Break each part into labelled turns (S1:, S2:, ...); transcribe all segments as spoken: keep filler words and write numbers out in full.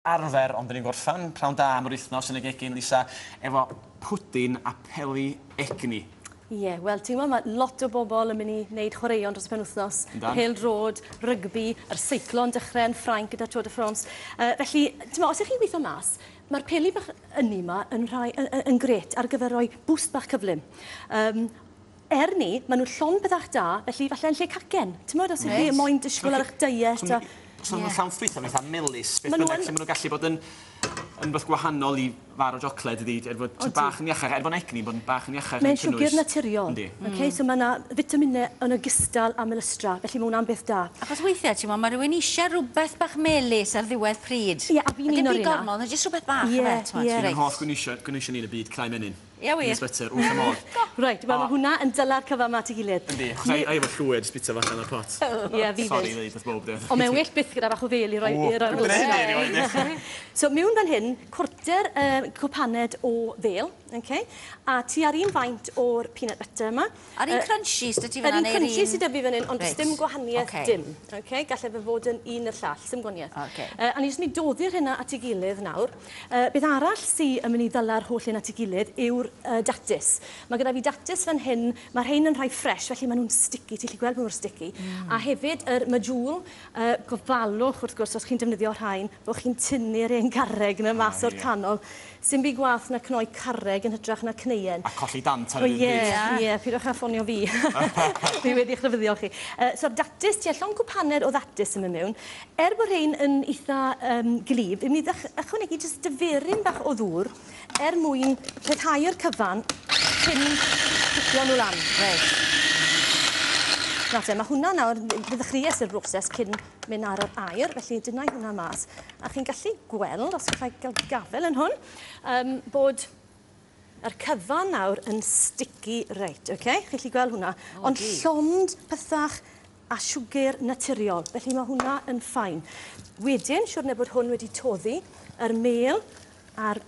S1: Arfer, ond 'dyn ni'n gorffan pnawn da am yr wythnos yn y gegin, Lisa, efo pwdin a peli egni.
S2: Ie, yeah, wel, ti'n gwybod, mae lot o bobl yn mynd i wneud chwaraeon dros y penwythnos. Pêl-droed, rygbi, yr seiclo'n dechrau yn Ffrainc gyda Tour de France. Uh, felly, ti'n gwybod, os ydych chi'n gweithio mas, mae'r peli bach ynni yma yn, rhai, yn, yn grêt ar gyfer rhoi boost bach cyflym. Um, er ni, maen nhw llond bethach da, felly falle yn lle cacen. Ti'n gwybod, os ydych chi moyn disgwyl ar eich diet. A...
S1: So yeah. Nhw'n llawn ffrwythau, maen nhw'n melys, beth bynnag, lle maen nhw'n gallu bod yn, yn beth gwahanol i far o siocled ydi, er bod bach yn iachach, er bod egni, bod yn bach yn iachach.
S2: Mae'n siwgr naturiol. Yndi. Okay, mm. So mae yna fitaminau yn ogystal â melystra, felly mae hwnna'n beth da.
S3: Achos weithiau, ti'n meddwl, mae rhywun eisiau rhywbeth bach melys ar ddiwedd pryd.
S2: Ie, yeah, a fi'n un o'r un.
S3: Dim byd gormod, jyst rhywbeth bach.
S2: Ie, ie.
S1: Fi'n hoff gynwysion ni yn y byd, cnau menyn.
S3: Ie, wir.
S1: Peanut butter, wrth y modd.
S2: Reit, wel, mae hwnna yn dyla'r cyfan 'ma at ei gilydd.
S1: Yndi, achos ai efo llwyd, jyst bita fo allan o'r pot.
S2: Ie, fi fyd.
S1: Sori, ddeud wrth bob dim.
S2: Ond mae'n well byth gyda bach o fel i roi...
S1: O, dwi'n gwneud hynny erioed.
S2: So, mewn fan hyn, cwarter uh, cwpaned o fel, okay? A ti ar un faint o'r peanut butter yma.
S3: Ar un crunchies dy ti fan
S2: Yr un crunchies sydd 'da fi fan hyn, ond dim gwahaniaeth dim. Okay? Gallai fe fod yn un i'r llall, dim gwahaniaeth.
S3: Okay.
S2: Uh, a ni jyst mynd i doddi'r hynna at ei gilydd nawr. Uh, beth arall sydd yn mynd i ddyla'r holl hyn at ei gilydd yw'r uh, datus. Mae gyda fi datus fan hyn, mae rhain yn rhai ffres, felly maen nhw'n sticky, ti'n gallu gweld bod nhw'n sticky. Mm. A hefyd yr medjool, uh, gofalwch wrth gwrs os chi'n defnyddio rhain, bod chi'n tynnu'r un garreg yna mas o'r canol. Sim byd gwath na cnoi carreg yn hytrach na cneuen.
S1: A colli dant ar yr un
S2: pryd. Ie, ie, pidwch â ffonio fi. Fi wedi eich rhybuddio chi. Uh, so'r datus, tua llond cwpaned o ddatus yn mynd mewn. Er bod rhain yn eitha um, glib, fi'n mynd i ychwanegu jyst diferyn bach o ddŵr er mwyn lleihau'r cyfan cyn cicio nhw lan.
S3: Reit.
S2: Nawr te, mae hwnna nawr, fe ddechreuais i'r broses cyn mynd ar yr aer, felly dyna i hwnna mas. A chi'n gallu gweld, os gallai gael gafel yn hwn, um, bod yr cyfan nawr yn sticky reit, okay? Chi'n gallu gweld hwnna.
S3: Oh,
S2: Ond llond pethach a siwgr naturiol, felly mae hwnna yn ffain. Wedyn, siwrne bod hwn wedi toddi, yr mel a'r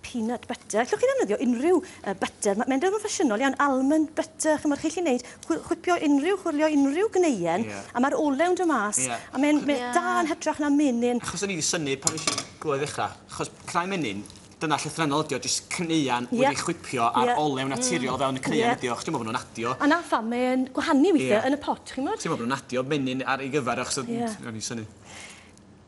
S2: peanut butter. Allwch chi ddefnyddio unrhyw uh, butter. Mae'n dod yn ffasiynol iawn, almond butter, chymod, chi'n gallu gwneud, chwipio unrhyw, chwyrlio unrhyw gneuen,
S1: yeah.
S2: A mae'r olew'n dod mas,
S1: yeah.
S2: A mae'n yeah. da yn hytrach na menyn.
S1: Achos o'n i wedi synnu pan nes i glywed ddechrau, achos cnau menyn, dyna llythrennol ydi o, jyst cneuan
S2: yeah.
S1: wedi chwipio a'r
S2: yeah.
S1: olew naturiol mm. fewn y cneuan
S2: yeah.
S1: ydi o, achos dwi'n meddwl bod nhw'n adio.
S2: A na pham mae'n gwahanu weithiau
S1: yeah.
S2: yn y pot, chi'n meddwl?
S1: Ti'n meddwl bod nhw'n adio menyn ar ei gyfer, achos
S2: yeah.
S1: o'n i'n synnu.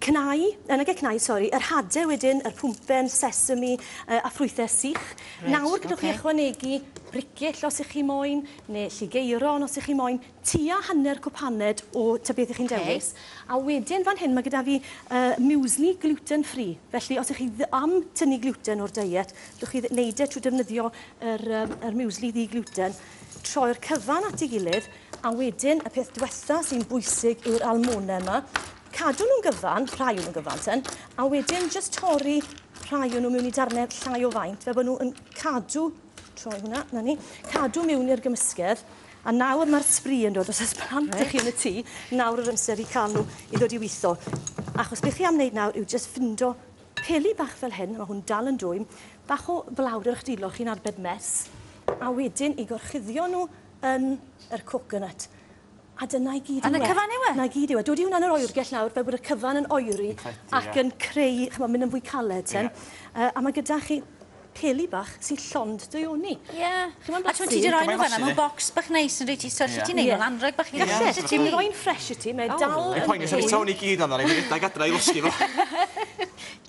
S2: Cnau, yn y cnau, sori, yr hadau wedyn, yr pwmpen, sesame uh, a ffrwythau sych.
S3: Reit,
S2: nawr gallwch
S3: okay.
S2: chi ychwanegu bricyll os ych chi moyn, neu lligeiron os ych chi moyn, tua hanner cwpaned o ta beth ych chi'n
S3: okay.
S2: dewis. A wedyn fan hyn mae gyda fi uh, muesli gluten free. Felly os ych chi am tynnu gluten o'r diet, gallwch chi wneud e trwy defnyddio yr, um, yr muesli ddi-gluten. Troi'r cyfan at ei gilydd, a wedyn y peth diwetha sy'n bwysig yw'r almonau yma. Cadw nhw'n gyfan, rhai o'n nhw'n gyfan ten, a wedyn jyst torri rhai o'n nhw mewn i darnau llai o faint, fel bod nhw yn cadw, troi hwnna, na ni, cadw mewn i'r gymysgedd, a nawr mae'r sbri yn dod, os oes plant
S3: Reit.
S2: chi yn y tŷ, nawr yr amser i cael nhw i ddod i weithio. Achos beth chi am wneud nawr yw jyst ffindo peli bach fel hyn, mae hwn dal yn dwym, bach o blawd ar eich dwylo chi'n arbed mess, a wedyn i gorchuddio nhw yn yr coconut. A dyna i gyd
S3: A
S2: yw
S3: 'na
S2: e.
S3: cyfan yw e?
S2: Na gyd yw e. Dod i hwnna yn yr oergell nawr, fel bod y cyfan yn oeri ac
S1: ie.
S2: yn creu, ch'mod, mynd yn fwy caled ten.
S1: Ie.
S2: Uh, a mae gyda chi peli bach sy'n llond daioni.
S3: Ie.
S2: Chi'n moyn
S3: A ti'n
S2: blasu?
S3: ti 'di roi nhw
S1: Gymaint
S3: fan'na mewn
S1: blasu.
S3: bocs bach neis yn reit i so
S1: Ie.
S3: ti'n neud
S2: Ie.
S3: nhw'n anreg bach i
S2: Galle,
S3: Gallet
S2: ti'n roi'n ffres i ti, mae
S3: O.
S2: dal
S1: Mae'n
S2: yn
S1: poeni, os o'n i gyd ond ar ei redag adra i losgi fo.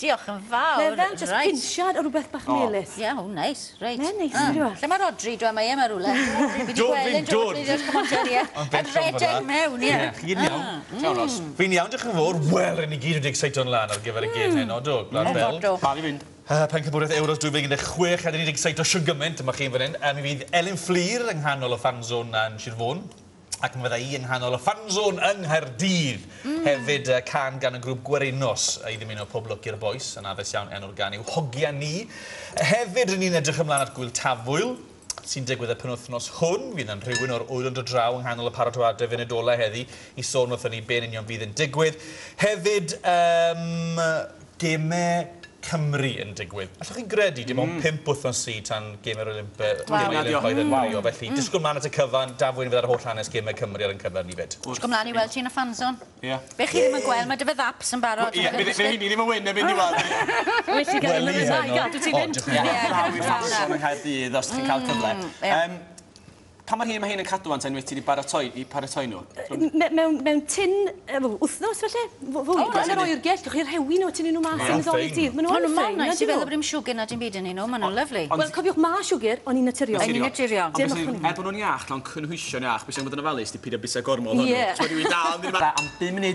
S3: Diolch yn fawr.
S2: Mae fel just
S3: Reit.
S2: pinsiad o rhywbeth bach
S1: O.
S2: melys.
S3: Ie, o, neis, reit.
S2: Mae'n neis,
S3: Ah.
S2: on'd yw e?
S3: Lle mae Rodri, dwi'n mae e 'ma rywle. Fi 'di
S4: Do,
S3: gweld
S4: fi'n
S3: e'n dod,
S4: dod.
S3: fi 'di come on, Jerry, ie.
S4: Ond
S3: Yn redeg mewn, ie.
S4: Ie, chi'n iawn.
S1: Iawn, Ros.
S4: Fi'n iawn, diolch yn fawr. Wel, rydyn ni gyd wedi excito'n lan ar gyfer y gêm heno, do, Gwlad Belg.
S3: Do.
S1: Pal i fynd.
S4: Uh, Pencampwriaeth Euros dwy fil un deg chwech, a dyn ni wedi excito shwd gymaint, dyma chi'n fan hyn. Uh, mi fydd Elin Fflur yng nghanol y fanzone yn Sir Fôn, ac mi fydda i yng nghanol y fanzone yng Nghaerdydd.
S3: Mm.
S4: Hefyd uh, can gan y grŵp Gwerinos i ddymuno pob lwc i'r bois, yn addas iawn enw'r gan yw Hogia Ni. Hefyd, rydyn ni'n edrych ymlaen at Gwyl Tafwyl, sy'n digwydd y penwythnos hwn. Fydd yn rhywun o'r ŵyl yn dod draw yng nghanol y paratoadau funud heddi i sôn wrthon ni be'n union fydd yn digwydd. Hefyd, um, gemau Cymru yn digwydd. Allwch chi gredu dim ond pump wythnos sy tan Gemau'r Olympe-
S3: Waw.
S4: Gemau Olympaidd yn Rio. Felly, disgwyl mlaen at y cyfan, Dafwyn fydd ar holl hanes Gemau Cymru ar ein cyfer ni fyd.
S3: Disgwyl mlaen i weld ti yn y fanzone.
S1: Ie.
S3: Be chi ddim yn gweld, mae dy fy ddaps yn barod.
S1: Ie, bydd bydd heini ddim yn wyn erbyn diwedd.
S2: Well i gael
S4: Wel,
S2: yn y
S4: ie,
S2: ddau
S4: no.
S2: gadw ti
S4: O,
S2: fynd.
S4: diolch yn fawr.
S3: Ie,
S1: Draw i'r
S3: cadw
S1: ffasiwn yng Nghaerdydd os ti'n cael cyfle.
S3: ie.
S1: Yym, Pa mor hir mae hyn yn cadw ante unwaith ti wedi baratoi, i paratoi nhw?
S2: Me- Mewn, mewn tin, yy, wythnos falle, fwy,
S3: O,
S2: yn yr oergell, gewch chi rhewi nhw, tynnu nhw mas
S4: Ie.
S2: yn y ddolig
S4: Fine.
S2: dydd. Maen
S3: Maen
S2: nhw'n
S3: nhw mor
S2: ffein,
S3: neis i
S2: ydyn
S3: feddwl
S2: nhw?
S3: bod dim siwgr na dim byd yn nhw, maen nhw'n lyfli.
S2: Wel, cofiwch, ma' siwgr, ond un naturiol.
S3: Yn un naturiol.
S1: Ond
S2: Dim
S1: beth sy'n-
S2: ychwanegol.
S1: er bod nhw'n iach, lawn cynhwysion iach, beth sy'n bod yn ofalus, di peidio byta gormod ohonyn nhw.
S2: Ie.
S1: Ti'n rywun dal yn mynd am bum munud.